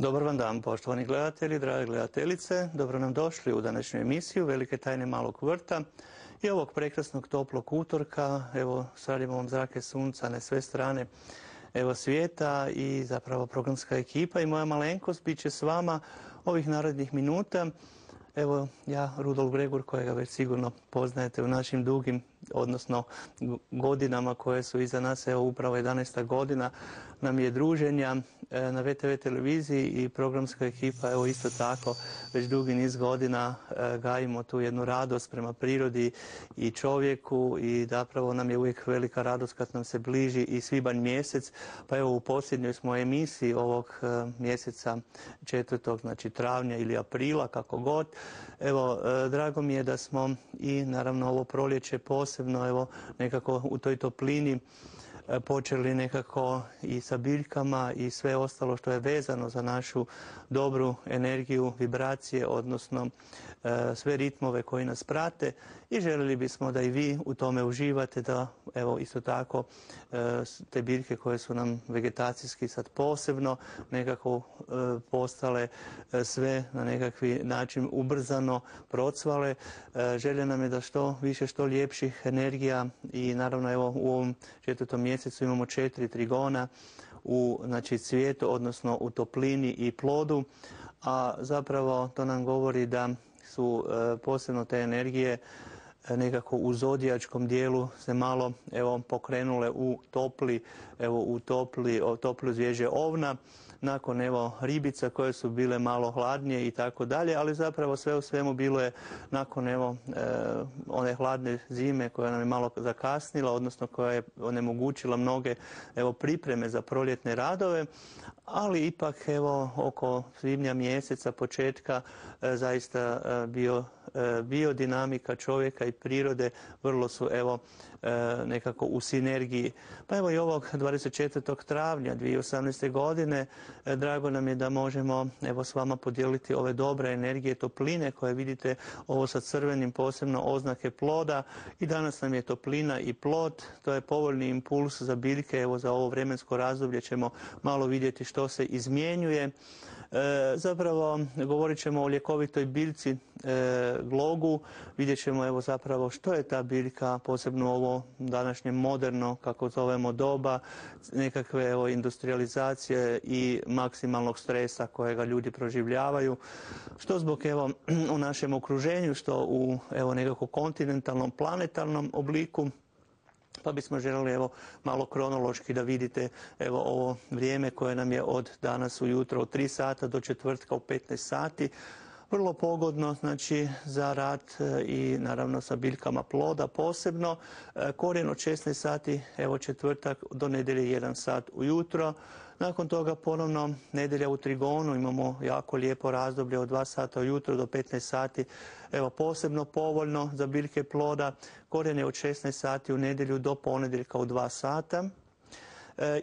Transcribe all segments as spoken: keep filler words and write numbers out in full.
Dobar vam dan, poštovani gledatelji, drage gledateljice. Dobro nam došli u današnju emisiju Velike tajne malog vrta i ovog prekrasnog toplog utorka. Evo, šaljemo vam zrake sunca na sve strane evo svijeta i zapravo programska ekipa i moja malenkost bit će s vama ovih narednih minuta. Evo, ja, Rudolf Gregor, kojega već sigurno poznajete u našim dugim, odnosno godinama koje su iza nas, evo upravo jedanaesta godina nam je druženja na ve te ve televiziji i programska ekipa, evo isto tako, već dugi niz godina gajimo tu jednu radost prema prirodi i čovjeku i zapravo nam je uvijek velika radost kad nam se bliži i svibanj mjesec, pa evo u posljednjoj smo emisiji ovog mjeseca četvrtog, znači travnja ili aprila, kako god. Evo, drago mi je da smo i naravno ovo proljeće posebno evo nekako u toj toplini počeli nekako i sa biljkama i sve ostalo što je vezano za našu dobru energiju, vibracije, odnosno e, sve ritmove koji nas prate i željeli bismo da i vi u tome uživate, da evo isto tako e, te biljke koje su nam vegetacijski sad posebno nekako e, postale e, sve na nekakvi način ubrzano procvale. E, želja nam je da što više, što ljepših energija i naravno evo u ovom četvrtom mjesecu imamo četiri trigona u znači, cvijetu, odnosno u toplini i plodu, a zapravo to nam govori da su e, posebno te energije e, nekako u zodijačkom dijelu se malo evo pokrenule u topli, evo u topli, o, toplu zvježđe ovna, nakon evo ribica koje su bile malo hladnije i tako dalje, ali zapravo sve u svemu bilo je nakon evo e, one hladne zime koja nam je malo zakasnila, odnosno koja je onemogućila mnoge evo pripreme za proljetne radove, ali ipak evo oko svibnja mjeseca početka e, zaista e, bio biodinamika čovjeka i prirode vrlo su evo nekako u sinergiji. Pa evo i ovog dvadeset četvrtog travnja dvije tisuće osamnaeste. godine drago nam je da možemo evo s vama podijeliti ove dobre energije topline koje vidite ovo sa crvenim posebno oznake ploda i danas nam je toplina i plod, to je povoljni impuls za biljke, evo za ovo vremensko razdoblje ćemo malo vidjeti što se izmjenjuje. E, zapravo govorit ćemo o ljekovitoj biljci e, glogu, vidjet ćemo evo zapravo što je ta biljka, posebno ovo današnje moderno, kako zovemo doba, nekakve evo industrializacije i maksimalnog stresa kojega ljudi proživljavaju, što zbog evo u našem okruženju, što u evo nekako kontinentalnom, planetarnom obliku. Pa bismo željeli evo malo kronološki da vidite evo ovo vrijeme koje nam je od danas ujutro od tri sata do četvrtka u petnaest sati. Vrlo pogodno znači za rad i naravno sa biljkama ploda posebno. Korijen od šesnaest sati, evo četvrtak do nedjelje jedan sat ujutro. Nakon toga ponovno nedjelja u trigonu, imamo jako lijepo razdoblje od dva sata ujutro do petnaest sati, evo posebno povoljno za biljke ploda. Korijen je od šesnaest sati u nedjelju do ponedjeljka u dva sata.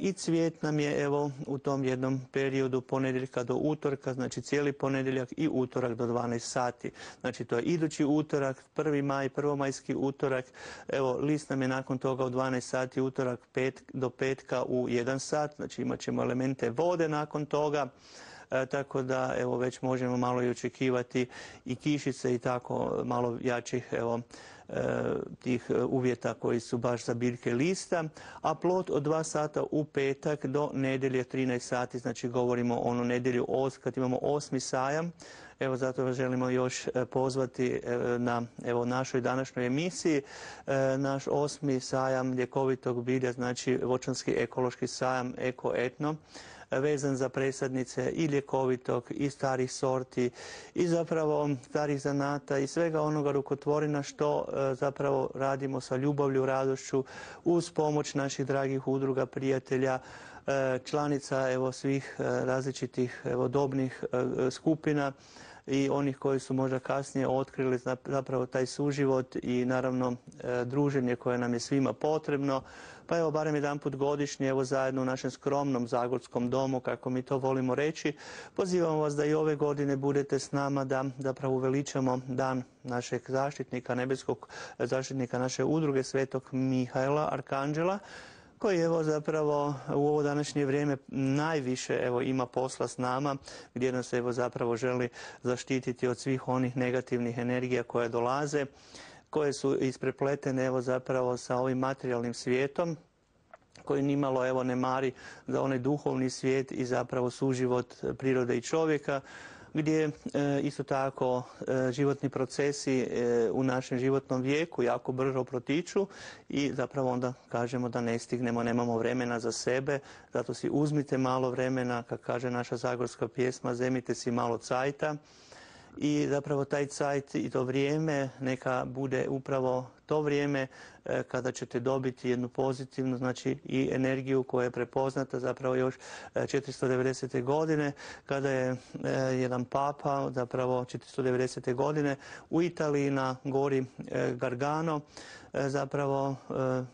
I cvijet nam je evo u tom jednom periodu ponedjeljka do utorka, znači cijeli ponedjeljak i utorak do dvanaest sati. Znači to je idući utorak, prvi maj, prvomajski utorak, evo list nam je nakon toga u dvanaest sati utorak pet, do petka u jedan sat, znači imat ćemo elemente vode nakon toga. E, tako da evo već možemo malo i očekivati i kišice i tako malo jačih evo e, tih uvjeta koji su baš za biljke lista, a plod od dva sata u petak do nedjelje trinaest sati, znači govorimo o onu nedjelju os, kad imamo osmi sajam. Evo zato vas želimo još pozvati na evo našoj današnjoj emisiji. E, naš osmi sajam ljekovitog bilja, znači voćanski ekološki sajam Eko Etno, vezan za presadnice i ljekovitog i starih sorti i zapravo starih zanata i svega onoga rukotvorina što e, zapravo radimo sa ljubavlju, radošću uz pomoć naših dragih udruga, prijatelja, e, članica evo svih e, različitih evo dobnih e, skupina i onih koji su možda kasnije otkrili zapravo taj suživot i naravno e, druženje koje nam je svima potrebno. Pa evo barem jedanput godišnje evo zajedno u našem skromnom zagorskom domu, kako mi to volimo reći, pozivamo vas da i ove godine budete s nama, da zapravo uveličamo dan našeg zaštitnika, nebeskog zaštitnika naše udruge Svetog Mihaela, Arkanđela, koji evo zapravo u ovo današnje vrijeme najviše evo ima posla s nama, gdje nas evo zapravo želi zaštititi od svih onih negativnih energija koje dolaze, koje su isprepletene evo zapravo sa ovim materijalnim svijetom, koji nimalo evo ne mari za onaj duhovni svijet i zapravo suživot prirode i čovjeka, gdje e, isto tako e, životni procesi e, u našem životnom vijeku jako brzo protiču i zapravo onda kažemo da ne stignemo, nemamo vremena za sebe, zato si uzmite malo vremena, kako kaže naša zagorska pjesma, zemite si malo cajta. I zapravo taj cajt i to vrijeme neka bude upravo to vrijeme kada ćete dobiti jednu pozitivnu, znači i energiju koja je prepoznata zapravo još četiristo devedesete. godine, kada je jedan papa zapravo četiristo devedesete. godine u Italiji na gori Gargano zapravo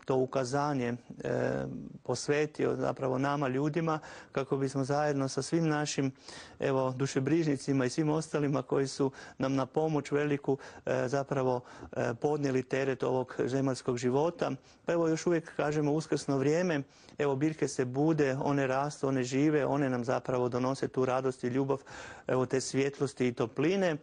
to ukazanje posvetio zapravo nama ljudima kako bismo zajedno sa svim našim evo dušebrižnicima i svim ostalima koji su nam na pomoć veliku zapravo podnijeli teret ovog zemaljskog života. Pa evo još uvijek kažemo uskrsno vrijeme, evo biljke se bude, one rastu, one žive, one nam zapravo donose tu radost i ljubav, evo te svjetlosti i topline.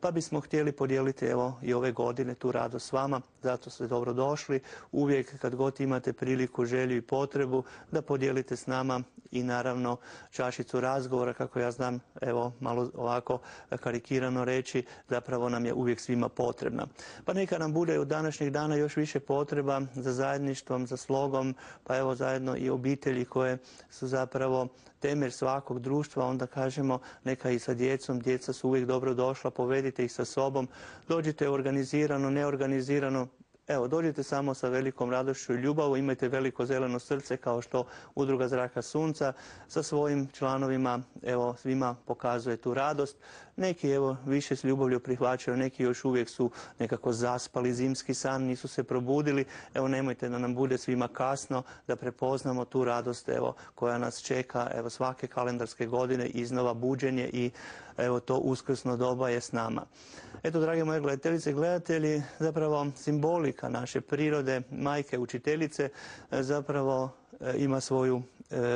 Pa bismo htjeli podijeliti evo i ove godine tu radost s vama, zato ste dobro došli. Uvijek kad god imate priliku, želju i potrebu da podijelite s nama i naravno čašicu razgovora, kako ja znam, evo malo ovako karikirano reći, zapravo nam je uvijek svima potrebna. Pa neka nam bude od današnjeg dana još više potreba za zajedništvom, za slogom, pa evo zajedno i obitelji koje su zapravo temelj svakog društva, onda kažemo neka i sa djecom, djeca su uvijek dobro došla, povedite ih sa sobom, dođite organizirano, neorganizirano, evo dođite samo sa velikom radošću i ljubavu, imajte veliko zeleno srce kao što Udruga Zraka Sunca sa svojim članovima evo svima pokazuje tu radost. Neki evo više s ljubavlju prihvaćaju, neki još uvijek su nekako zaspali zimski san, nisu se probudili. Evo nemojte da nam bude svima kasno, da prepoznamo tu radost evo koja nas čeka evo svake kalendarske godine, iznova buđenje i evo to uskrsno doba je s nama. Eto, drage moje gledateljice i gledatelji, zapravo simbolika naše prirode, majke učiteljice, zapravo ima svoju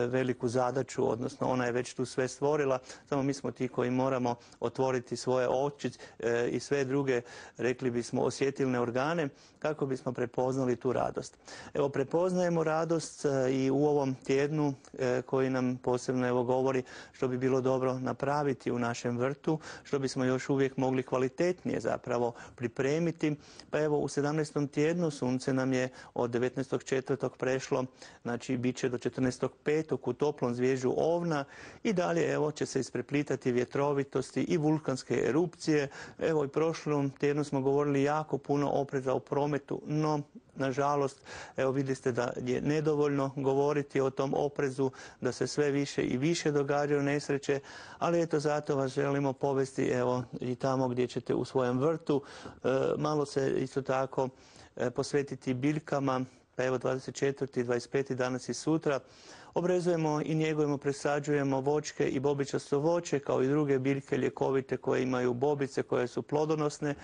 veliku zadaću, odnosno ona je već tu sve stvorila, samo mi smo ti koji moramo otvoriti svoje oči i sve druge, rekli bismo, osjetilne organe kako bismo prepoznali tu radost. Evo, prepoznajemo radost i u ovom tjednu koji nam posebno evo govori što bi bilo dobro napraviti u našem vrtu, što bismo još uvijek mogli kvalitetnije zapravo pripremiti. Pa evo u sedamnaestom tjednu sunce nam je od devetnaestog četvrtog prešlo, znači bit će do četrnaestog petog u toplom zvježđu Ovna i dalje evo će se ispreplitati vjetrovitosti i vulkanske erupcije. Evo i prošlom tjednu smo govorili jako puno opreza u prometu, no nažalost, evo vidjeli ste da je nedovoljno govoriti o tom oprezu, da se sve više i više događaju nesreće, ali eto zato vas želimo povesti evo i tamo gdje ćete u svojem vrtu e, malo se isto tako e, posvetiti biljkama, pa evo dvadeset četvrti, dvadeset peti danas i sutra. Obrezujemo i njegujemo, presađujemo voćke i bobičasto voće kao i druge biljke ljekovite koje imaju bobice, koje su plodonosne,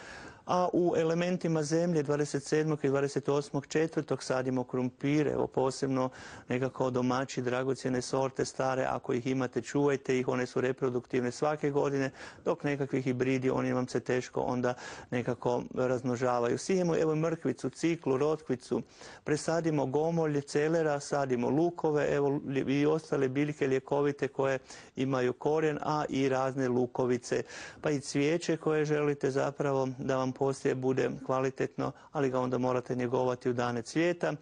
a u elementima zemlje dvadeset sedmog i dvadeset osmog četvrtog sadimo krumpire, evo posebno nekako domaći dragocjene sorte stare, ako ih imate čuvajte ih, one su reproduktivne svake godine, dok nekakvi hibridi, oni vam se teško onda nekako razmnožavaju. Sijemo evo mrkvicu, ciklu, rotkvicu, presadimo gomolje, celera, sadimo lukove, evo i ostale biljke ljekovite koje imaju korijen, a i razne lukovice, pa i cvijeće koje želite zapravo da vam poslije bude kvalitetno, ali ga onda morate njegovati u dane cvijeta.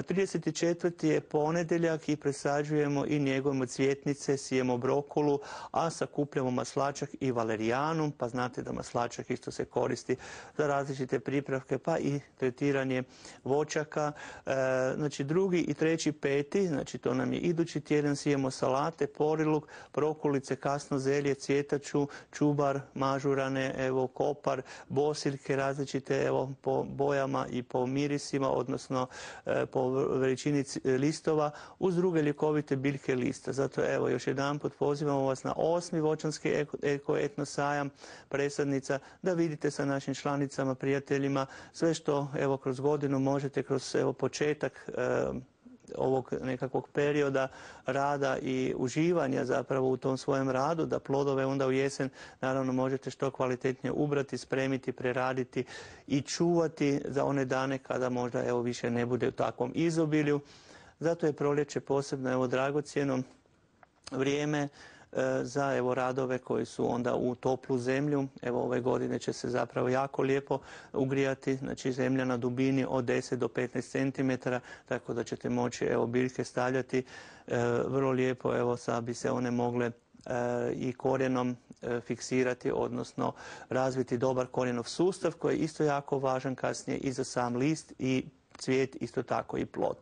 trideset četvrti je ponedjeljak i presađujemo i njegujemo cvjetnice, sijemo brokulu, a sakupljamo maslačak i valerijanum, pa znate da maslačak isto se koristi za različite pripravke, pa i tretiranje voćaka. E, znači drugi i treći peti, znači to nam je idući tjedan, sijemo salate, poriluk, prokulice, kasno zelje, cvjetaču, čubar, mažurane, evo kopar, bosiljke različite evo po bojama i po mirisima, odnosno e, po veličini listova, uz druge ljekovite biljke lista. Zato evo još jedanput pozivamo vas na osmi voćanski eko etno sajam presadnica, da vidite sa našim članicama, prijateljima sve što evo kroz godinu možete kroz evo početak e, ovog nekakvog perioda rada i uživanja zapravo u tom svojem radu, da plodove onda u jesen naravno možete što kvalitetnije ubrati, spremiti, preraditi i čuvati za one dane kada možda evo više ne bude u takvom izobilju. Zato je proljeće posebno evo dragocjeno vrijeme za evo radove koji su onda u toplu zemlju. Evo ove godine će se zapravo jako lijepo ugrijati, znači zemlja na dubini od deset do petnaest centimetara, tako da ćete moći evo biljke stavljati e, vrlo lijepo, evo sad bi se one mogle e, i korijenom e, fiksirati, odnosno razviti dobar korijenov sustav koji je isto jako važan kasnije i za sam list i cvijet, isto tako i plod.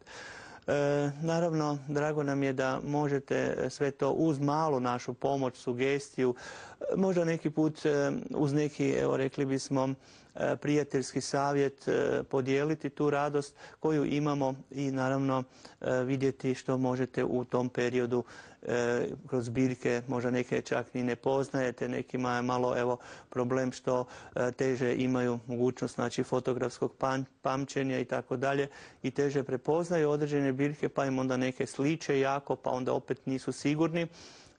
E, naravno, drago nam je da možete sve to uz malu našu pomoć, sugestiju, možda neki put e, uz neki, evo rekli bismo, e, prijateljski savjet e, podijeliti tu radost koju imamo i naravno e, vidjeti što možete u tom periodu e, kroz biljke, možda neke čak ni ne poznajete, nekima je malo evo problem što e, teže imaju mogućnost znači fotografskog pam, pamćenja i tako dalje i teže prepoznaju određene biljke pa im onda neke sliče jako pa onda opet nisu sigurni.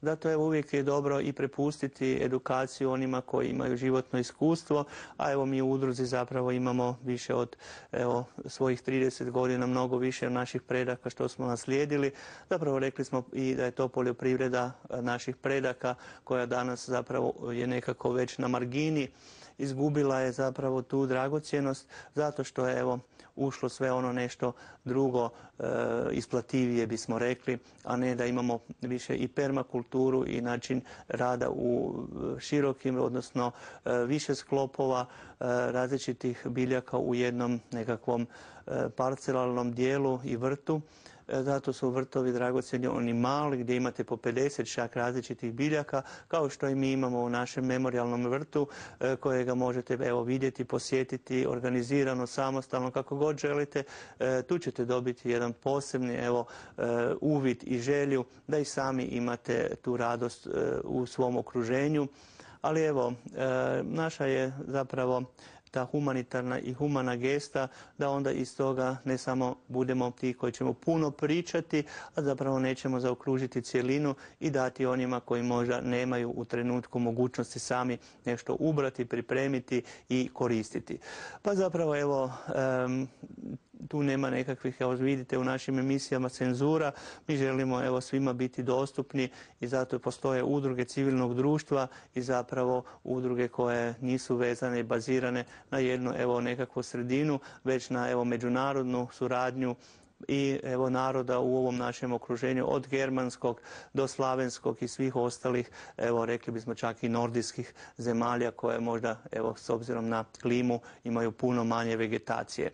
Zato evo uvijek je dobro i prepustiti edukaciju onima koji imaju životno iskustvo, a evo mi u udruzi zapravo imamo više od evo, svojih trideset godina, mnogo više naših predaka što smo naslijedili. Zapravo rekli smo i da je to poljoprivreda naših predaka koja danas zapravo je nekako već na margini. Izgubila je zapravo tu dragocjenost zato što je evo ušlo sve ono nešto drugo e, isplativije bismo rekli, a ne da imamo više i permakulturu i način rada u širokim, odnosno e, više sklopova e, različitih biljaka u jednom nekakvom e, parcelalnom dijelu i vrtu. Zato su vrtovi dragocjeni oni mali gdje imate po pedeset čak različitih biljaka kao što i mi imamo u našem memorijalnom vrtu kojega možete evo vidjeti, posjetiti organizirano, samostalno kako god želite. Tu ćete dobiti jedan posebni evo uvid i želju da i sami imate tu radost u svom okruženju. Ali evo naša je zapravo ta humanitarna i humana gesta da onda iz toga ne samo budemo ti koji ćemo puno pričati, a zapravo nećemo zaokružiti cjelinu i dati onima koji možda nemaju u trenutku mogućnosti sami nešto ubrati, pripremiti i koristiti. Pa zapravo evo um, tu nema nekakvih, evo vidite u našim emisijama cenzura, mi želimo evo svima biti dostupni i zato postoje udruge civilnog društva i zapravo udruge koje nisu vezane i bazirane na jednu evo nekakvu sredinu, već na evo međunarodnu suradnju i evo naroda u ovom našem okruženju od germanskog do slavenskog i svih ostalih, evo rekli bismo čak i nordijskih zemalja koje možda evo s obzirom na klimu imaju puno manje vegetacije.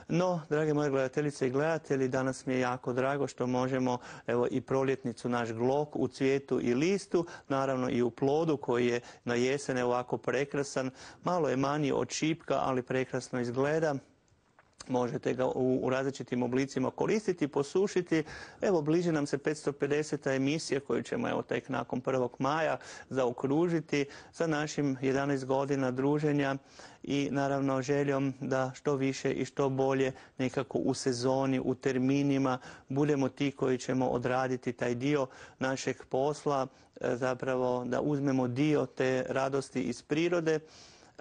No, drage moje gledateljice i gledatelji, danas mi je jako drago što možemo evo i proljetnicu naš glok u cvijetu i listu, naravno i u plodu koji je na jesen ovako prekrasan, malo je manji od šipka, ali prekrasno izgleda. Možete ga u, u različitim oblicima koristiti, posušiti. Evo, bliži nam se petsto pedeseta emisija koju ćemo evo tek nakon prvog maja zaokružiti sa našim jedanaest godina druženja i naravno željom da što više i što bolje nekako u sezoni, u terminima budemo ti koji ćemo odraditi taj dio našeg posla, zapravo da uzmemo dio te radosti iz prirode,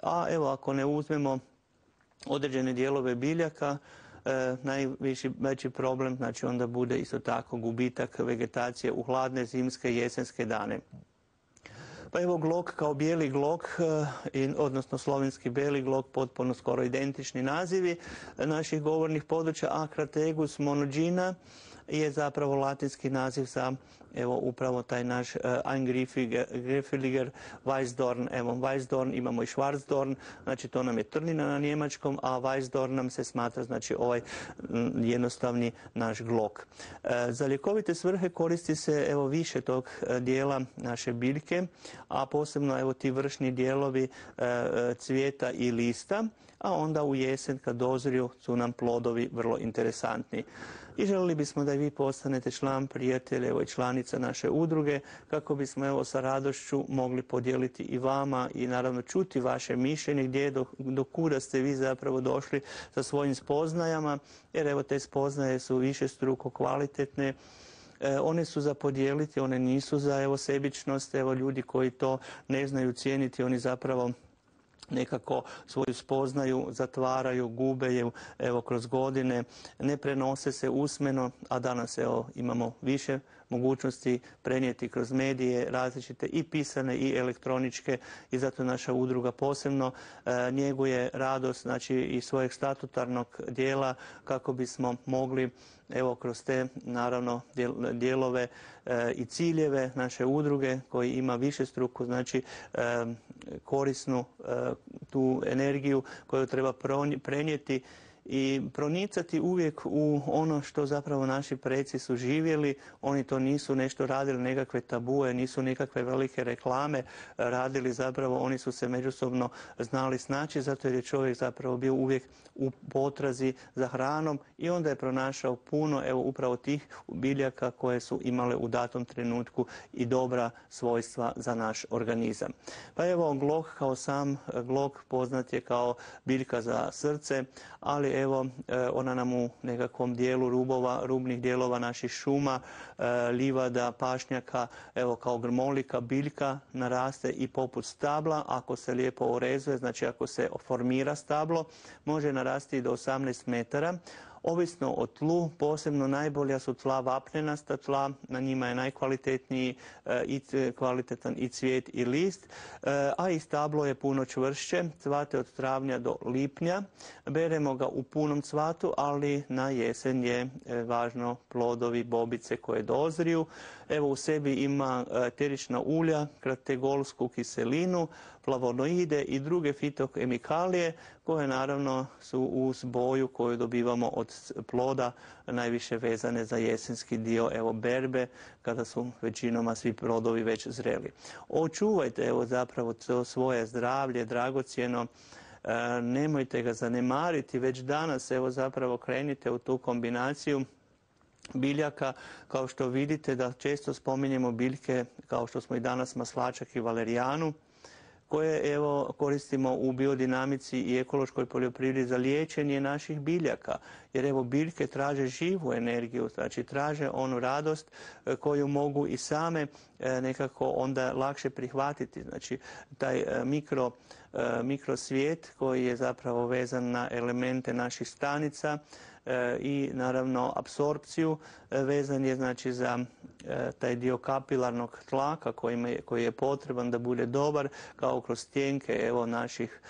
a evo ako ne uzmemo određene dijelove biljaka, e, najviši veći problem znači onda bude isto tako gubitak vegetacije u hladne zimske i jesenske dane. Pa evo glok kao bijeli glok, e, odnosno slovenski bijeli glok, potpuno skoro identični nazivi naših govornih područja. Akrategus monogina je zapravo latinski naziv za evo upravo taj naš uh, Eingriffeliger Weißdorn. Evo Weißdorn imamo i Schwarzdorn, znači to nam je trnina na njemačkom, a Weißdorn nam se smatra znači ovaj m, jednostavni naš glok. Uh, za ljekovite svrhe koristi se evo više tog uh, dijela naše biljke, a posebno evo ti vršni dijelovi uh, cvijeta i lista, a onda u jesen kad dozriju su nam plodovi vrlo interesantni. I želili bismo da i vi postanete član, prijatelj, evo i članica stranica naše udruge kako bismo evo sa radošću mogli podijeliti i vama i naravno čuti vaše mišljenje gdje do, do kuda ste vi zapravo došli sa svojim spoznajama, jer evo te spoznaje su višestruko kvalitetne. E, one su za podijeliti, one nisu za evo sebičnost, evo ljudi koji to ne znaju cijeniti, oni zapravo nekako svoju spoznaju zatvaraju, gube je evo kroz godine, ne prenose se usmeno, a danas evo imamo više mogućnosti prenijeti kroz medije različite i pisane i elektroničke i zato naša udruga posebno e, njeguje radost znači i svojeg statutarnog dijela kako bismo mogli evo kroz te naravno dijelove e, i ciljeve naše udruge koji ima višestruku znači e, korisnu e, tu energiju koju treba prenijeti i pronicati uvijek u ono što zapravo naši preci su živjeli. Oni to nisu nešto radili, nekakve tabue, nisu nekakve velike reklame radili, zapravo oni su se međusobno znali snaći, zato jer je čovjek zapravo bio uvijek u potrazi za hranom i onda je pronašao puno evo upravo tih biljaka koje su imale u datom trenutku i dobra svojstva za naš organizam. Pa evo glog kao sam glog poznat je kao biljka za srce, ali evo ona nam u nekakvom dijelu rubova, rubnih dijelova naših šuma, livada, pašnjaka, evo kao grmolika, biljka naraste i poput stabla, ako se lijepo orezuje, znači ako se formira stablo, može narasti do osamnaest metara. Ovisno o tlu, posebno najbolja su tla vapnenasta tla, na njima je najkvalitetniji e, i kvalitetan i cvijet i list, e, a i stablo je puno čvršće, cvate od travnja do lipnja, beremo ga u punom cvatu, ali na jesen je e, važno plodovi, bobice koje dozriju. Evo u sebi ima eterična ulja, krategolsku kiselinu, flavonoide i druge fitokemikalije koje naravno su uz boju koju dobivamo od ploda najviše vezane za jesenski dio evo berbe kada su većinoma svi plodovi već zreli. Očuvajte evo zapravo to svoje zdravlje dragocjeno. E, nemojte ga zanemariti, već danas evo zapravo krenite u tu kombinaciju biljaka, kao što vidite da često spominjemo biljke kao što smo i danas maslačak i valerijanu, koje evo koristimo u biodinamici i ekološkoj poljoprivredi za liječenje naših biljaka. Jer evo biljke traže živu energiju, znači traže onu radost koju mogu i same nekako onda lakše prihvatiti. Znači taj mikro, mikrosvijet koji je zapravo vezan na elemente naših stanica i naravno apsorpciju vezan je znači za taj dio kapilarnog tlaka koji je potreban da bude dobar kao kroz stjenke evo naših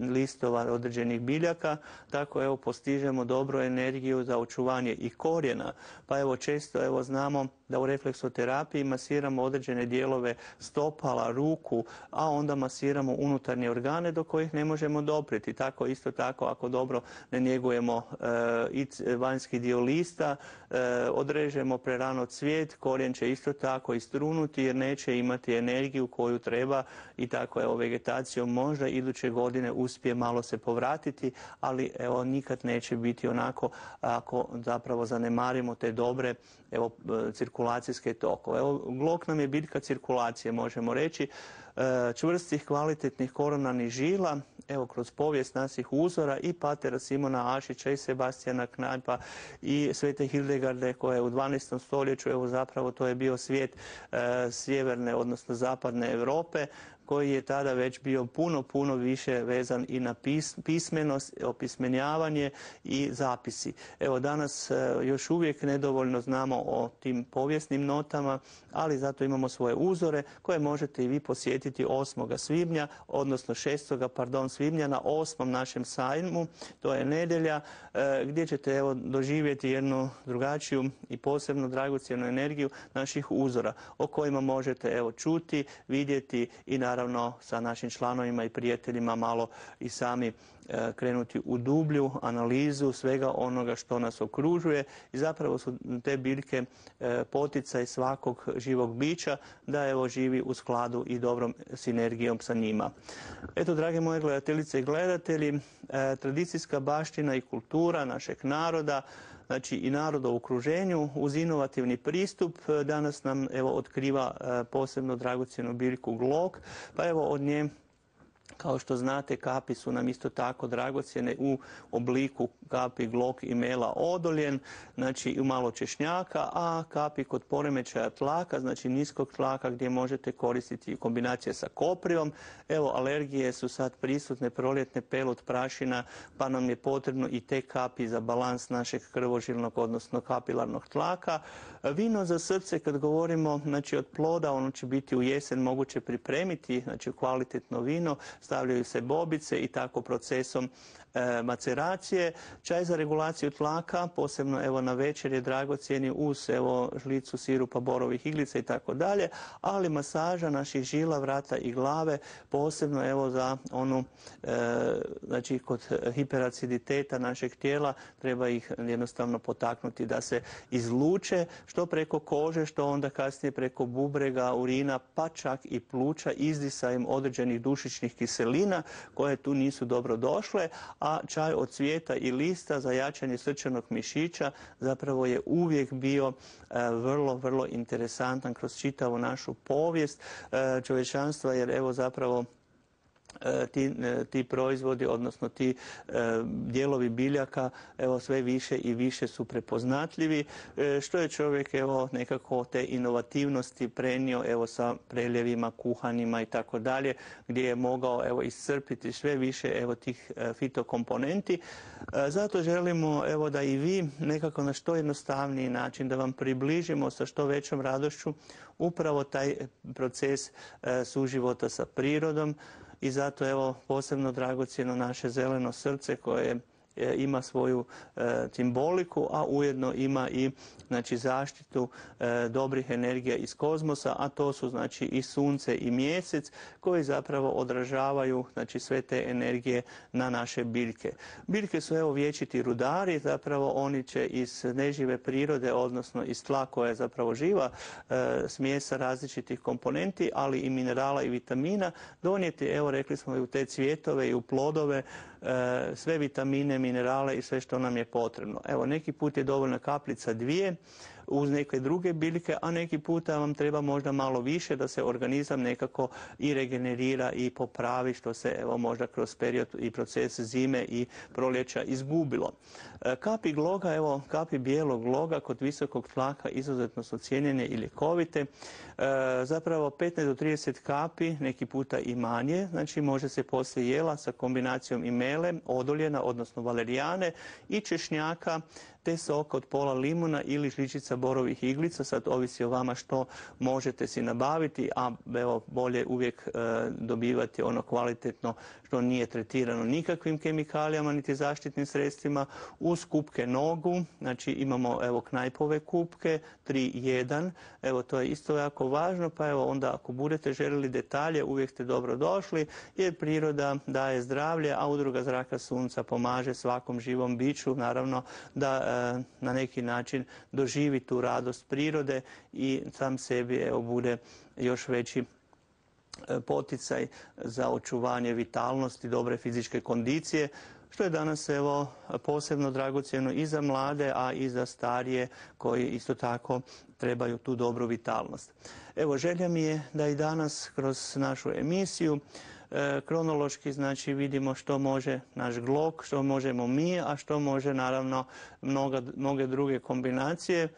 listova određenih biljaka, tako evo postižemo dobru energiju za očuvanje i korijena. Pa evo često evo znamo da u refleksoterapiji masiramo određene dijelove stopala, ruku, a onda masiramo unutarnje organe do kojih ne možemo dopriti. Tako isto tako ako dobro ne njegujemo e, i vanjski dio lista, e, odrežemo prerano cvijet, korijen će isto tako istrunuti jer neće imati energiju koju treba i tako evo vegetacijom možda iduće godine uspije malo se povratiti, ali evo nikad neće biti onako ako zapravo zanemarimo te dobre evo cirkulacijske tokove. Evo glog nam je biljka cirkulacije, možemo reći, čvrstih, kvalitetnih koronarnih žila, evo kroz povijest naših uzora i patera Simona Ašića i Sebastijana Knajpa i Svete Hildegarde koja je u dvanaestom stoljeću, evo zapravo to je bio svijet e, sjeverne, odnosno zapadne Europe, koji je tada već bio puno, puno više vezan i na pis, pismenost, opismenjavanje i zapisi. Evo danas e, još uvijek nedovoljno znamo o tim povijesnim notama, ali zato imamo svoje uzore koje možete i vi posjetiti osmog svibnja, odnosno šestog pardon, svibnja na osmom našem sajmu, to je nedjelja, e, gdje ćete evo doživjeti jednu drugačiju i posebno dragocjenu energiju naših uzora o kojima možete evo čuti, vidjeti i naravno naravno sa našim članovima i prijateljima malo i sami e, krenuti u dublju analizu svega onoga što nas okružuje i zapravo su te biljke e, poticaj svakog živog bića da evo živi u skladu i dobrom sinergijom sa njima. Eto, drage moje gledateljice i gledatelji, e, tradicijska baština i kultura našeg naroda znači i naroda u okruženju uz inovativni pristup danas nam evo otkriva posebno dragocjenu biljku glog, pa evo od nje, kao što znate, kapi su nam isto tako dragocjene u obliku kapi glog i mela odoljen, znači i malo češnjaka, a kapi kod poremećaja tlaka, znači niskog tlaka gdje možete koristiti kombinacije sa koprivom. Evo, alergije su sad prisutne, proljetne, pelud, prašina, pa nam je potrebno i te kapi za balans našeg krvožilnog, odnosno kapilarnog tlaka. Vino za srce, kad govorimo, znači od ploda, ono će biti u jesen moguće pripremiti, znači kvalitetno vino, stavljaju se bobice i tako procesom e, maceracije. Čaj za regulaciju tlaka, posebno evo na večer je dragocjeni uz evo žlicu sirupa borovih iglica i tako dalje, ali masaža naših žila, vrata i glave, posebno evo za onu, e, znači kod hiperaciditeta našeg tijela treba ih jednostavno potaknuti da se izluče što preko kože, što onda kasnije preko bubrega, urina, pa čak i pluća izdisajem određenih dušičnih kiselina koje tu nisu dobro došle, a čaj od cvijeta i lista za jačanje srčanog mišića zapravo je uvijek bio e, vrlo, vrlo interesantan kroz čitavu našu povijest e, čovječanstva, jer evo zapravo Ti, ti proizvodi, odnosno ti e, dijelovi biljaka evo sve više i više su prepoznatljivi, e, što je čovjek evo nekako te inovativnosti prenio evo sa preljevima, kuhanima i tako dalje, gdje je mogao evo iscrpiti sve više evo tih e, fitokomponenti. E, zato želimo evo da i vi nekako na što jednostavniji način da vam približimo sa što većom radošću upravo taj proces e, suživota sa prirodom. I zato evo posebno dragocjeno naše zeleno srce koje ima svoju e, simboliku, a ujedno ima i znači zaštitu e, dobrih energija iz kozmosa, a to su znači i sunce i mjesec koji zapravo odražavaju znači sve te energije na naše biljke. Biljke su evo vječiti rudari, zapravo oni će iz nežive prirode, odnosno iz tla koja je zapravo živa e, smjesa različitih komponenti, ali i minerala i vitamina donijeti, evo rekli smo, i u te cvjetove i u plodove e, sve vitamine, minerale i sve što nam je potrebno. Evo, neki put je dovoljna kapljica dvije uz neke druge biljke, a neki puta vam treba možda malo više da se organizam nekako i regenerira i popravi, što se evo možda kroz period i proces zime i proljeća izgubilo. Kapi gloga, evo kapi bijelog gloga kod visokog tlaka izuzetno su cijenjene i ljekovite. Zapravo petnaest do trideset kapi, neki puta i manje, znači može se poslije jela sa kombinacijom imele, odoljena, odnosno valerijane i češnjaka, te sok od pola limuna ili žličica borovih iglica, sad ovisi o vama što možete si nabaviti, a evo bolje uvijek e, dobivati ono kvalitetno što nije tretirano nikakvim kemikalijama niti zaštitnim sredstvima, uz kupke nogu, znači imamo evo knajpove kupke, tri jedan, evo to je isto jako važno, pa evo onda ako budete željeli detalje uvijek ste dobro došli, jer priroda daje zdravlje, a Udruga Zraka sunca pomaže svakom živom biću, naravno da e, na neki način doživi tu radost prirode i sam sebi evo bude još veći poticaj za očuvanje vitalnosti, dobre fizičke kondicije, što je danas evo posebno dragocjeno i za mlade, a i za starije koji isto tako trebaju tu dobru vitalnost. Evo, želja mi je da i danas kroz našu emisiju e, kronološki znači vidimo što može naš glog, što možemo mi, a što može naravno mnoga, mnoge druge kombinacije,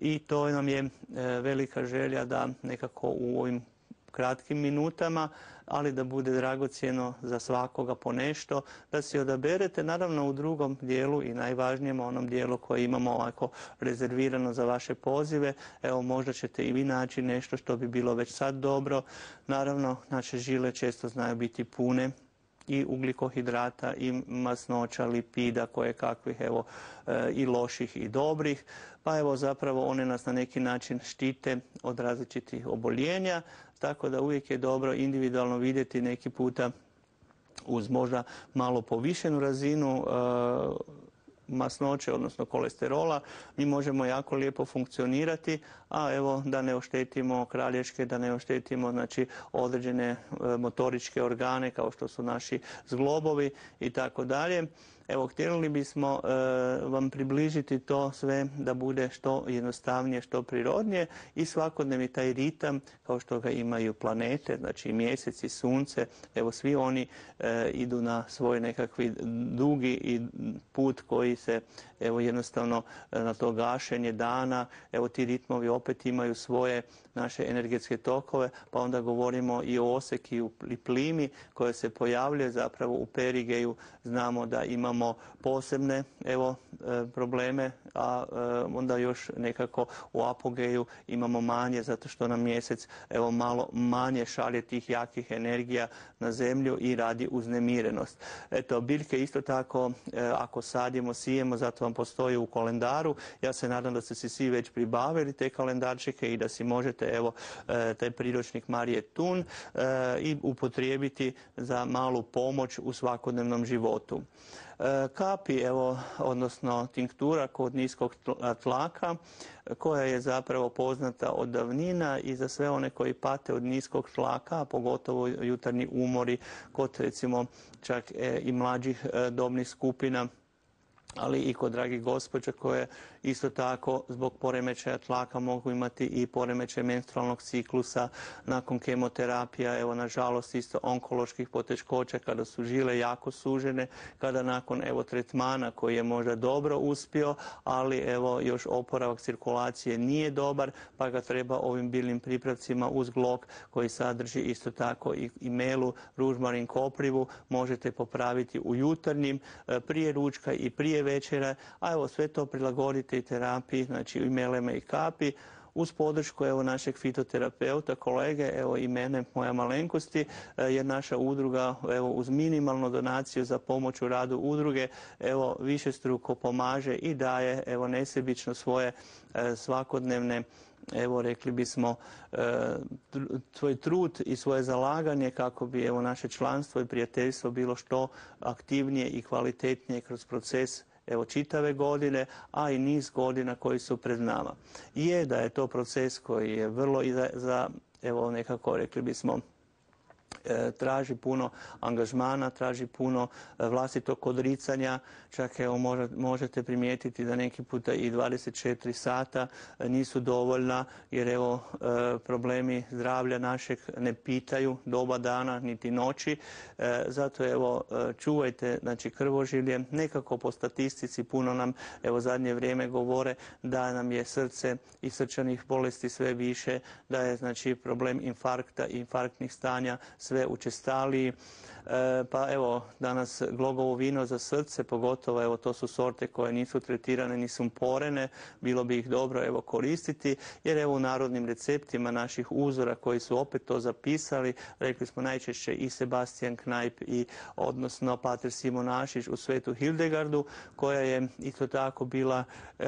i to nam je e, velika želja da nekako u ovim kratkim minutama, ali da bude dragocjeno za svakoga po nešto, da si odaberete, naravno u drugom dijelu i najvažnijem onom dijelu koji imamo ovako rezervirano za vaše pozive. Evo, možda ćete i vi naći nešto što bi bilo već sad dobro. Naravno, naše žile često znaju biti pune i ugljikohidrata i masnoća, lipida, koje kakvih evo i loših i dobrih. Pa evo zapravo one nas na neki način štite od različitih oboljenja, tako da uvijek je dobro individualno vidjeti neki puta uz možda malo povišenu razinu e, masnoće, odnosno kolesterola, mi možemo jako lijepo funkcionirati, a evo da ne oštetimo kralješke, da ne oštetimo znači određene e, motoričke organe kao što su naši zglobovi i tako dalje. Evo, htjeli bismo e, vam približiti to sve da bude što jednostavnije, što prirodnije i svakodnevni taj ritam kao što ga imaju planete, znači mjesec i sunce, evo svi oni e, idu na svoj nekakvi dugi i put koji se evo jednostavno na to gašenje dana, evo ti ritmovi opet imaju svoje naše energetske tokove, pa onda govorimo i o oseki i plimi koje se pojavljuje zapravo u perigeju. Znamo da imamo posebne evo probleme, a onda još nekako u apogeju imamo manje zato što nam mjesec evo malo manje šalje tih jakih energija na zemlju i radi uznemirenost. Eto, biljke isto tako ako sadimo, sijemo, zato vam postoji u kalendaru. Ja se nadam da ste si svi već pribavili te kalendarčike i da si možete evo taj priručnik Marije Tun i upotrijebiti za malu pomoć u svakodnevnom životu. Kapi, evo, odnosno tinktura kod niskog tlaka, koja je zapravo poznata od davnina i za sve one koji pate od niskog tlaka, a pogotovo jutarnji umori kod recimo čak i mlađih dobnih skupina, ali i kod dragih gospođa koje isto tako zbog poremećaja tlaka mogu imati i poremećaj menstrualnog ciklusa nakon kemoterapija, evo nažalost isto onkoloških poteškoća kada su žile jako sužene, kada nakon evo tretmana koji je možda dobro uspio, ali evo još oporavak cirkulacije nije dobar, pa ga treba ovim biljnim pripravcima uz glog koji sadrži isto tako i, i melu, ružmarin, koprivu, možete popraviti u jutarnjim, prije ručka i prije večera, a evo sve to prilagodite i terapiji, znači i meleme i kapi, uz podršku evo našeg fitoterapeuta, kolege, evo i mene, moja malenkosti, jer naša udruga evo uz minimalnu donaciju za pomoć u radu udruge evo višestruko pomaže i daje evo nesebično svoje e, svakodnevne evo rekli bismo svoj trud i svoje zalaganje kako bi evo naše članstvo i prijateljstvo bilo što aktivnije i kvalitetnije kroz proces evo čitave godine, a i niz godina koji su pred nama. Je da je to proces koji je vrlo i za, za evo nekako rekli bismo traži puno angažmana, traži puno vlastitog odricanja, čak evo možete primijetiti da neki puta i dvadeset četiri sata nisu dovoljna jer evo problemi zdravlja našeg ne pitaju doba dana niti noći, zato evo čuvajte znači krvožilje, nekako po statistici puno nam evo zadnje vrijeme govore da nam je srce i srčanih bolesti sve više, da je znači problem infarkta i infarktnih stanja sve učestaliji. E, pa evo danas glogovo vino za srce, pogotovo evo to su sorte koje nisu tretirane ni sumporene, bilo bi ih dobro evo koristiti jer evo u narodnim receptima naših uzora koji su opet to zapisali, rekli smo najčešće i Sebastian Knajp i odnosno Pater Simonašić u Svetu Hildegardu koja je isto tako bila e,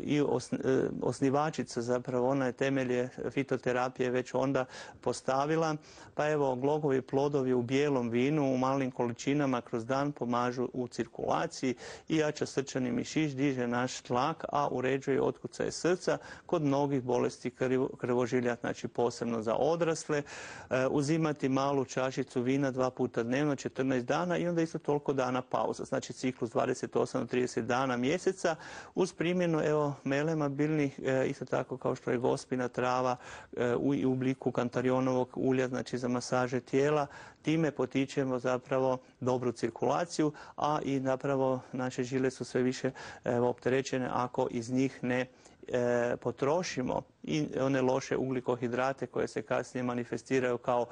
i os, e, osnivačica, zapravo ona je temelje fitoterapije već onda postavila, pa evo glogovi plodovi u bijelom vinu u malim količinama kroz dan pomažu u cirkulaciji i jača srčani mišić, diže naš tlak, a uređuje otkucaje srca kod mnogih bolesti krvožilja, znači posebno za odrasle. E, uzimati malu čašicu vina dva puta dnevno, četrnaest dana i onda isto toliko dana pauza, znači ciklus dvadeset osam do trideset dana mjeseca uz primjenu evo melema biljnih, e, isto tako kao što je gospina trava e, u, u obliku kantarionovog ulja, znači za masaže tijela. Time potičemo zapravo dobru cirkulaciju, a i zapravo naše žile su sve više evo, opterećene ako iz njih ne e, potrošimo i one loše ugljikohidrate koje se kasnije manifestiraju kao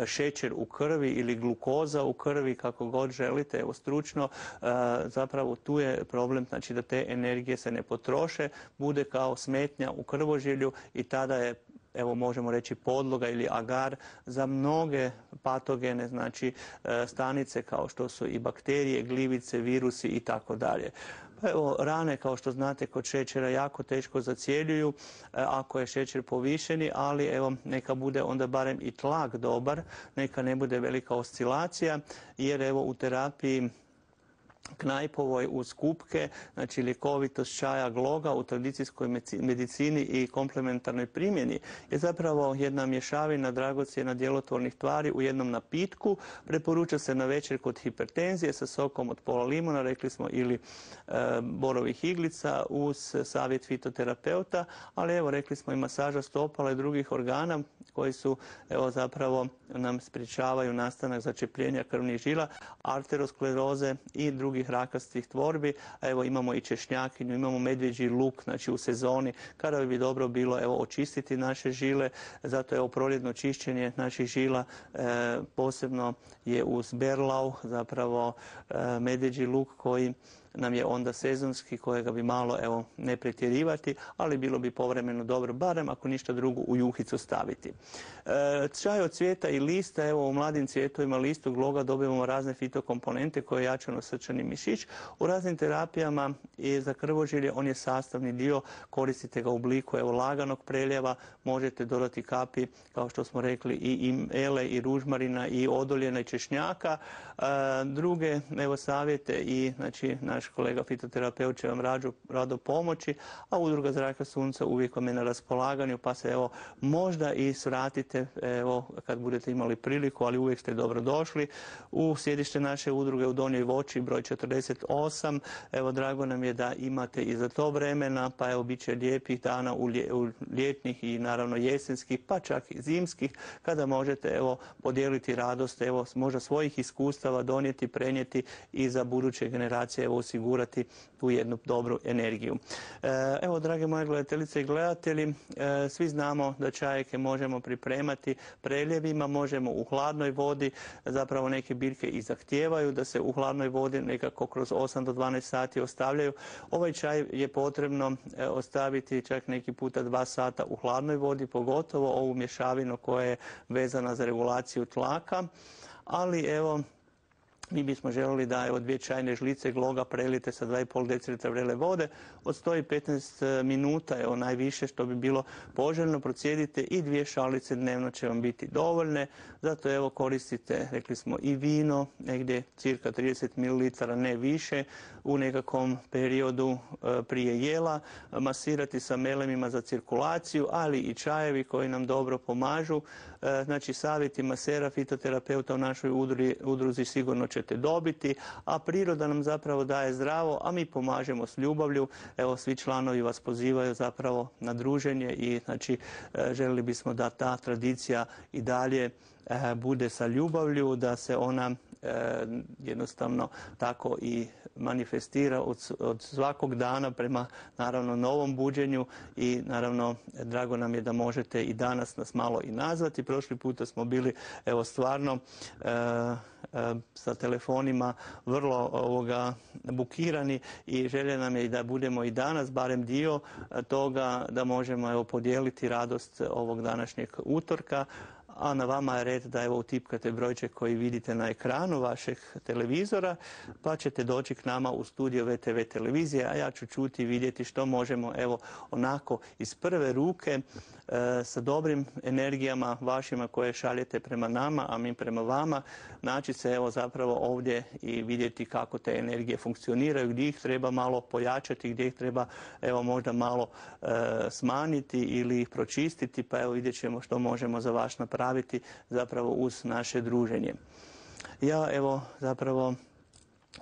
šećer u krvi ili glukoza u krvi, kako god želite, evo stručno, e, zapravo tu je problem, znači da te energije se ne potroše, bude kao smetnja u krvožilju i tada je evo možemo reći podloga ili agar za mnoge patogene, znači stanice kao što su i bakterije, gljivice, virusi i tako dalje. Evo, rane, kao što znate, kod šećera jako teško zacjeljuju ako je šećer povišeni, ali evo neka bude onda barem i tlak dobar, neka ne bude velika oscilacija, jer evo u terapiji Knajpovoj uz kupke, znači ljekovitost čaja gloga u tradicijskoj medicini i komplementarnoj primjeni je zapravo jedna mješavina dragocjena djelotvornih tvari u jednom napitku. Preporuča se na večer kod hipertenzije sa sokom od pola limuna, rekli smo, ili e, borovih iglica uz savjet fitoterapeuta, ali evo rekli smo i masaža stopala i drugih organa koji su evo zapravo nam sprječavaju nastanak začepljenja krvnih žila, arteroskleroze i drugih rakastih tvorbi. A evo imamo i češnjakinju, imamo medvjeđi luk, znači u sezoni kada bi dobro bilo evo očistiti naše žile. Zato evo proljetno čišćenje naših žila e, posebno je uz berlau, zapravo e, medvjeđi luk koji nam je onda sezonski, kojega bi malo evo ne pretjerivati, ali bilo bi povremeno dobro, barem ako ništa drugo u juhicu staviti. E, čaj od cvijeta i lista, evo u mladim cvjetovima listog loga dobivamo razne fitokomponente koje jačaju srčani mišić. U raznim terapijama i za krvožilje on je sastavni dio, koristite ga u obliku evo laganog preljeva, možete dodati kapi, kao što smo rekli, i ele i ružmarina i odoljena i češnjaka. E, druge evo savjete i znači naš kolega fitoterapeut će vam rađu, rado pomoći, a udruga Zraka sunca uvijek vam je na raspolaganju, pa se evo možda i svratite evo kad budete imali priliku, ali uvijek ste dobro došli u sjedište naše udruge u Donjoj Voći, broj četrdeset osam. Evo drago nam je da imate i za to vremena, pa evo bit će lijepih dana u, lje, u ljetnih i naravno jesenskih, pa čak i zimskih, kada možete evo podijeliti radost, evo možda svojih iskustava donijeti, prenijeti i za buduće generacije evo osigurati tu jednu dobru energiju. Evo, drage moje gledateljice i gledatelji, svi znamo da čajeke možemo pripremati preljevima, možemo u hladnoj vodi, zapravo neke biljke i zahtijevaju da se u hladnoj vodi nekako kroz osam do dvanaest sati ostavljaju. Ovaj čaj je potrebno ostaviti čak neki puta dva sata u hladnoj vodi, pogotovo ovu mješavinu koja je vezana za regulaciju tlaka, ali evo mi bismo željeli da evo dvije čajne žlice gloga prelite sa dva i pol decilitra vrele vode od sto i petnaest minuta, evo najviše što bi bilo poželjno, procijedite i dvije šalice dnevno će vam biti dovoljne. Zato evo koristite, rekli smo, i vino, negdje cirka trideset mililitara, ne više, u nekakvom periodu prije jela, masirati sa melemima za cirkulaciju, ali i čajevi koji nam dobro pomažu. Znači savjeti masera, fitoterapeuta u našoj udruzi, udruzi sigurno ćete dobiti, a priroda nam zapravo daje zdravo, a mi pomažemo s ljubavlju. Evo svi članovi vas pozivaju zapravo na druženje i znači željeli bismo da ta tradicija i dalje bude sa ljubavlju, da se ona jednostavno tako i manifestira od, od svakog dana prema naravno novom buđenju i naravno drago nam je da možete i danas nas malo i nazvati. Prošli puta smo bili evo stvarno e, e, sa telefonima vrlo ovoga bukirani i želja nam je i da budemo i danas barem dio toga da možemo evo podijeliti radost ovog današnjeg utorka. A na vama je red da evo utipkate brojček koji vidite na ekranu vašeg televizora, pa ćete doći k nama u studio ve te ve televizije, a ja ću čuti i vidjeti što možemo evo onako iz prve ruke e, sa dobrim energijama vašima koje šaljete prema nama, a mi prema vama, naći se evo zapravo ovdje i vidjeti kako te energije funkcioniraju, gdje ih treba malo pojačati, gdje ih treba evo možda malo e, smanjiti ili ih pročistiti, pa evo vidjet ćemo što možemo za vas napraviti zapravo uz naše druženje. Ja evo zapravo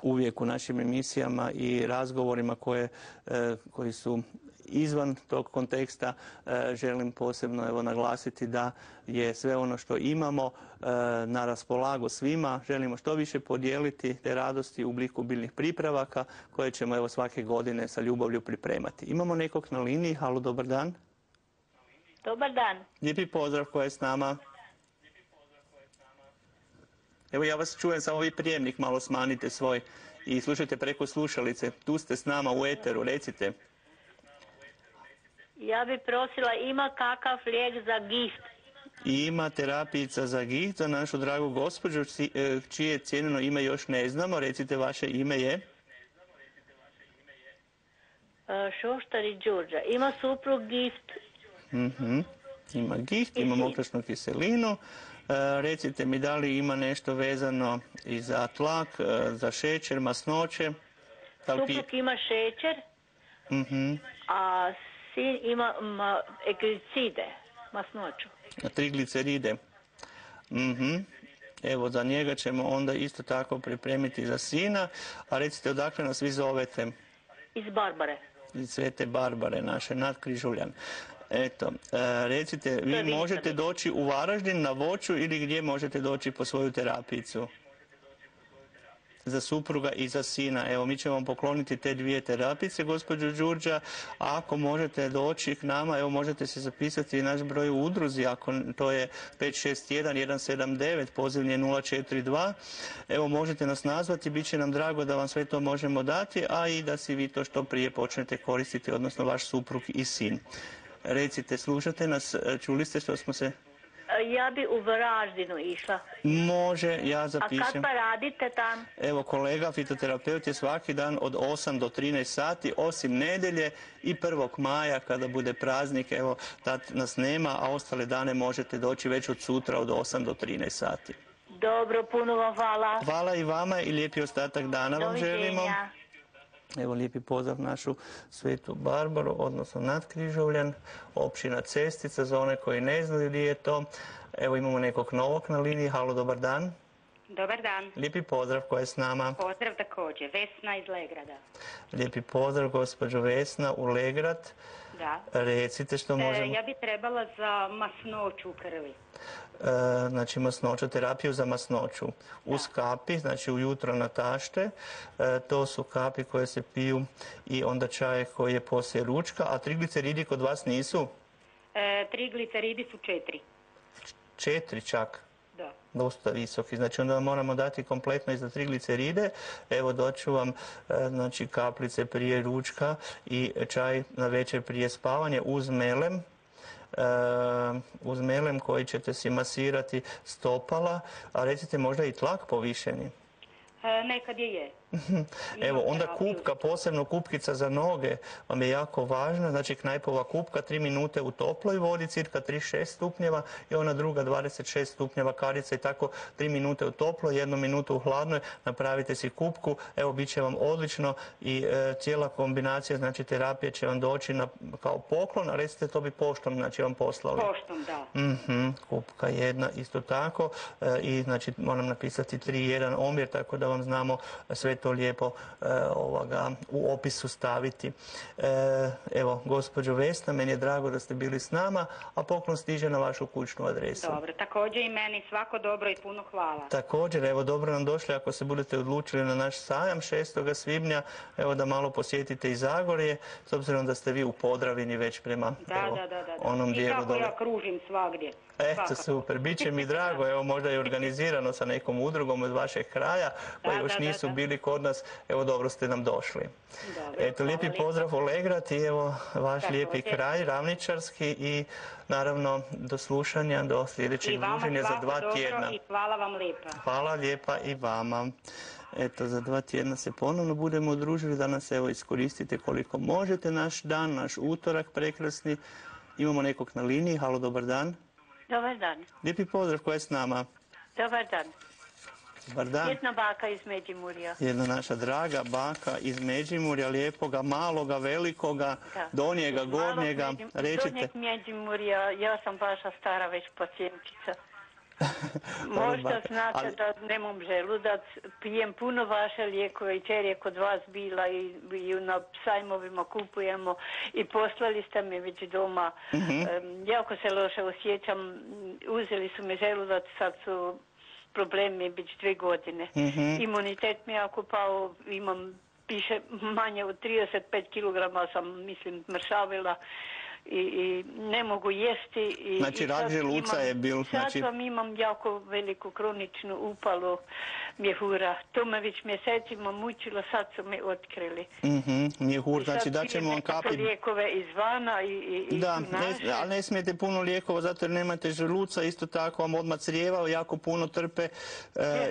uvijek u našim emisijama i razgovorima koje, e, koji su izvan tog konteksta e, želim posebno evo naglasiti da je sve ono što imamo e, na raspolagu svima. Želimo što više podijeliti te radosti u obliku biljnih pripravaka koje ćemo evo svake godine sa ljubavlju pripremati. Imamo nekog na liniji. Halo, dobar dan. Dobar dan. Lijepi pozdrav, ko je s nama? Evo ja vas čujem, samo vi prijemnik malo smanjite svoj i slušajte preko slušalice. Tu ste s nama u eteru, recite. Ja bi prosila, ima kakav lijek za giht? Ima terapijica za giht za našu dragu gospođu, čije cijenjeno ime još ne znamo. Recite, vaše ime je? Šoštari Đurđa. Ima suprug giht. Mhm. Ima giht, ima mokračnu kiselinu. recite mi da li ima nešto vezano i za tlak, e, za šećer, masnoće? Da li pije- Suprug ima šećer, Mhm. a sin ima ma, eglicide, masnoću. Trigliceride. Mhm. Evo, za njega ćemo onda isto tako pripremiti za sina. A recite, odakle nas vi zovete? Iz Barbare. Iz Svete Barbare, naše Nadkrižuljan. Eto, e, recite, vi je Vinca možete već. doći u Varaždin na Voću ili gdje možete doći po svoju terapijicu? Za supruga i za sina. Evo, mi ćemo vam pokloniti te dvije terapice, gospođo Đurđa. A ako možete doći k nama, evo, možete se zapisati i naš broj u udruzi, ako to je pet šest jedan jedan sedam devet, pozivni je nula četiri dva. Evo, možete nas nazvati, bit će nam drago da vam sve to možemo dati, a i da si vi to što prije počnete koristiti, odnosno vaš suprug i sin. Recite, slušate nas, čuli ste što smo se... Ja bi u Varaždinu išla. Može, ja A kad zapišem. pa radite tam? Evo, kolega fitoterapeut je svaki dan od osam do trinaest sati, osim nedjelje i prvog maja kada bude praznik, evo, tad nas nema, a ostale dane možete doći već od sutra od osam do trinaest sati. Dobro, puno vam hvala. Hvala i vama i lijepi ostatak dana vam želimo. Doviđenja. Evo, lijepi pozdrav našu Svetu Barbaru, odnosno Nadkrižovljan, općina Cestica, za one koji ne znaju gdje je to. Evo, imamo nekog novog na liniji. Halo, dobar dan. Dobar dan. Lijepi pozdrav, koja je s nama? Pozdrav također. Vesna iz Legrada. Lijepi pozdrav, gospođo Vesna, u Legrad. Da. Recite što možemo... E, ja bi trebala za masnoću u krvi. E, znači masnoću, terapiju za masnoću. Uz kapi, znači ujutro na tašte, e, to su kapi koje se piju i onda čaj koji je poslije ručka, a trigliceridi kod vas nisu? E, trigliceridi su četiri. Četiri čak. Da. Dosta visoki, znači onda vam moramo dati kompletno i za trigliceride. Evo, doću vam e, znači kaplice prije ručka i čaj na večer prije spavanja uz melem. Uh, uz melem koji ćete si masirati stopala, a recite možda i tlak povišeni. E, nekad je je. Evo, Imam onda terapiju. kupka, posebno kupkica za noge vam je jako važna, znači knajpova kupka, tri minute u toploj vodi, cirka trideset šest stupnjeva i ona druga dvadeset šest stupnjeva karica i tako tri minute u toploj, jednu minutu u hladnoj, napravite si kupku, evo, bit će vam odlično i e, cijela kombinacija, znači terapije će vam doći na, kao poklon, a recite to bi poštom, znači vam poslali. Poštom, da. Mhm, kupka jedna isto tako e, i znači moram napisati tri jedan omjer tako da vam znamo sve to lijepo e, ovoga, u opisu staviti. E, evo, gospođo Vesna, meni je drago da ste bili s nama, a poklon stiže na vašu kućnu adresu. Dobro, također i meni svako dobro i puno hvala. Također, evo, dobro nam došli ako se budete odlučili na naš sajam šestoga svibnja, evo da malo posjetite i Zagorje, s obzirom da ste vi u Podravini već prema Da, evo, da, da, da. onom I dijelu kako dole. ja kružim svagdje. Eto, Svakako. super, bit će mi drago, evo možda i organizirano sa nekom udrugom od vašeg kraja, koji Da, još da, da, nisu da. bili kod nas, evo dobro ste nam došli. Dobro, Eto, hvala lijepi lijepo. pozdrav u Legrad i evo vaš Također. lijepi kraj, ravničarski i naravno do slušanja, do I sljedećeg vama druženja za svako dva dobro tjedna. i hvala vam lijepa. Hvala lijepa i vama. Eto, za dva tjedna se ponovno budemo udružili, danas evo iskoristite koliko možete naš dan, naš utorak prekrasni. Imamo nekog na liniji, halo, dobar dan. Dobar dan. Lijepi pozdrav, koja je s nama? Dobar dan. Dobar dan. Jedna baka iz Međimurja. Jedna naša draga baka iz Međimurja, lijepoga, maloga, velikoga, Da. donjega, Malog gornjega. Međim- Recite. Donjeg Međimurja, ja sam vaša stara već pacijentica. Možda baka. znate Ali- da nemam želudac, pijem puno vaše lijekove i čer je kod vas bila i, i na sajmovima kupujemo i poslali ste mi već doma. Mhm. Em, jako se loše osjećam, uzeli su mi želudac, sad su problemi već dvije godine. Mhm. Imunitet mi je jako pao, imam piše manje od trideset pet kilograma sam, mislim, mršavila i, i ne mogu jesti. I, Znači, i rak sad želuca imam- je bil, Sad znači- vam imam jako veliku kroničnu upalu mjehura. To me već mjesecima mučilo, sad su me otkrili. Mhm, mjehur, I sad znači da ćemo vam pijem nekakve kapi... lijekove izvana i, i, i Da, tu naše. ne, ali ne smijete puno lijekova zato jer nemate želuca, isto tako vam odmah crijeva, jako puno trpe e,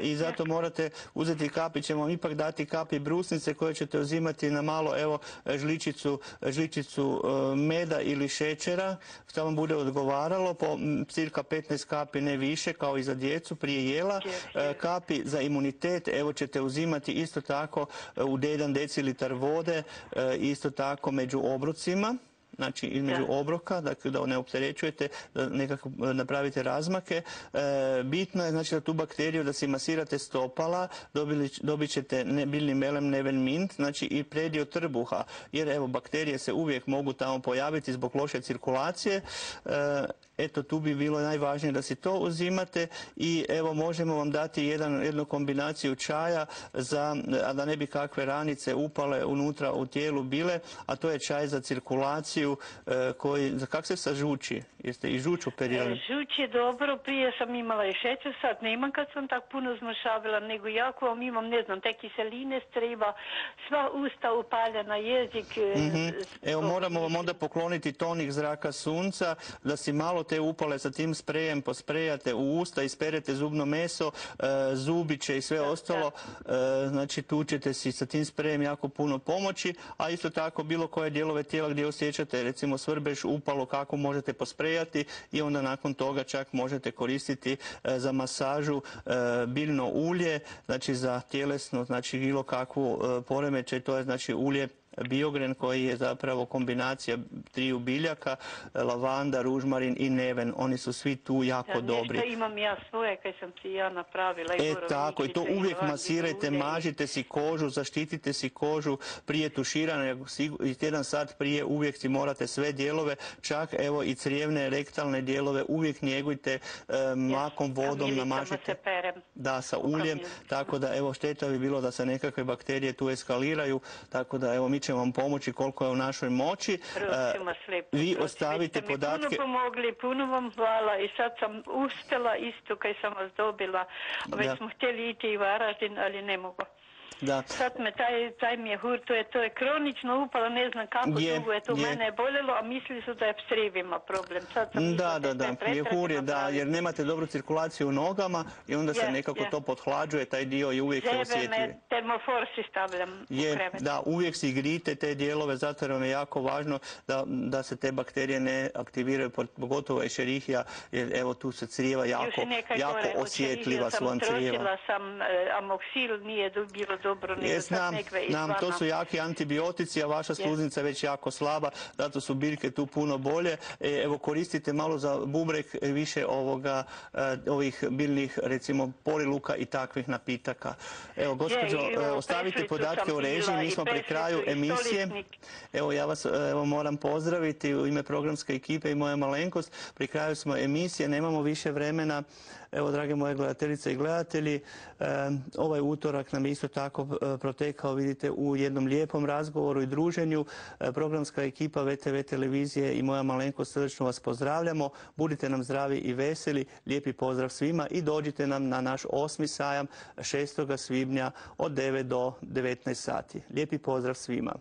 i zato morate uzeti kapi, ćemo vam ipak dati kapi brusnice koje ćete uzimati na malo, evo, žličicu, žličicu e, meda ili ili šećera, što vam bude odgovaralo, po cirka petnaest kapi, ne više, kao i za djecu prije jela. Kapi za imunitet, evo ćete uzimati isto tako u jedan decilitar vode, isto tako među obrocima. Znači između obroka, dakle da ne opterećujete, da nekako napravite razmake. E, bitno je znači da tu bakteriju da si masirate stopala, dobili, dobit ćete ne, biljni melem neven mint, znači i predio trbuha, jer evo bakterije se uvijek mogu tamo pojaviti zbog loše cirkulacije. E, Eto, tu bi bilo najvažnije da si to uzimate i evo možemo vam dati jedan, jednu kombinaciju čaja za, a da ne bi kakve ranice upale unutra u tijelu bile, a to je čaj za cirkulaciju e, koji, za kak se sa žuči? Jeste i žuč operirali? Žuč je dobro, prije sam imala i šećer, sad nemam kad sam tak puno zmršavila, nego jako vam imam, ne znam, te kiseline streba, sva usta upaljena, jezik. Mm-hmm. Evo moramo vam onda pokloniti tonik zraka sunca, da si malo te upale sa tim sprejem posprejate u usta, isperete zubno meso, e, zubiće i sve da, ostalo. Da. E, znači tu ćete si sa tim sprejem jako puno pomoći, a isto tako bilo koje dijelove tijela gdje osjećate, recimo svrbež, upalo, kako možete posprejati i onda nakon toga čak možete koristiti e, za masažu e, biljno ulje, znači za tjelesno, znači bilo kakvu e, poremećaj, to je znači ulje Biogren koji je zapravo kombinacija triju biljaka, lavanda, ružmarin i neven. Oni su svi tu jako da, dobri. Nešto imam ja svoje kaj sam si ja napravila. E tako, i to uvijek masirajte, mažite si kožu, zaštitite si kožu prije tuširanja i tjedan sat prije uvijek si morate sve dijelove, čak evo i crijevne, rektalne dijelove uvijek njegujte e, mlakom vodom, namažite. Da, sa uljem, tako da evo šteta bi bilo da se nekakve bakterije tu eskaliraju, tako da evo mi ćemo vam pomoći koliko je u našoj moći. Vi ostavite podatke. Vi ste mi puno pomogli, puno vam hvala i sad sam uspjela isto kaj sam vas dobila. Već da. smo htjeli ići i Varaždin, ali ne mogu. Da. Sad me taj, taj mi je hur, to je, to je kronično upalo, ne znam kako je, dugo je to je. Mene je boljelo, a mislili su da je s crijevima problem. Sad sam da, da, da, mjehur je, da, jer nemate dobru cirkulaciju u nogama i onda je, se nekako je. to pothlađuje, taj dio i uvijek se osjetljivi. Zebe me termofor si stavljam je, u krevet. Da, uvijek si grite te dijelove, zato vam je jako važno da, da se te bakterije ne aktiviraju, pogotovo Escherichia, jer evo tu se crijeva jako, jako gore, osjetljiva su vam crijeva. sam e, amoksil, nije bilo dobro, nego sad nam, nam, to su jaki antibiotici, a vaša sluznica je već jako slaba, zato su biljke tu puno bolje. E, evo koristite malo za bubrek više ovoga, e, ovih biljnih, recimo poriluka i takvih napitaka. Evo, gospođo, je, ostavite podatke o režiji, mi smo pri kraju emisije. Evo, ja vas evo, moram pozdraviti u ime programske ekipe i moja malenkost. Pri kraju smo emisije, nemamo više vremena. Evo, drage moje gledateljice i gledatelji, e, ovaj utorak nam isto tako protekao, vidite, u jednom lijepom razgovoru i druženju. E, programska ekipa V T V televizije i moja malenkost srdečno vas pozdravljamo. Budite nam zdravi i veseli. Lijepi pozdrav svima i dođite nam na naš osmi sajam šestog svibnja od devet do devetnaest sati. Lijepi pozdrav svima.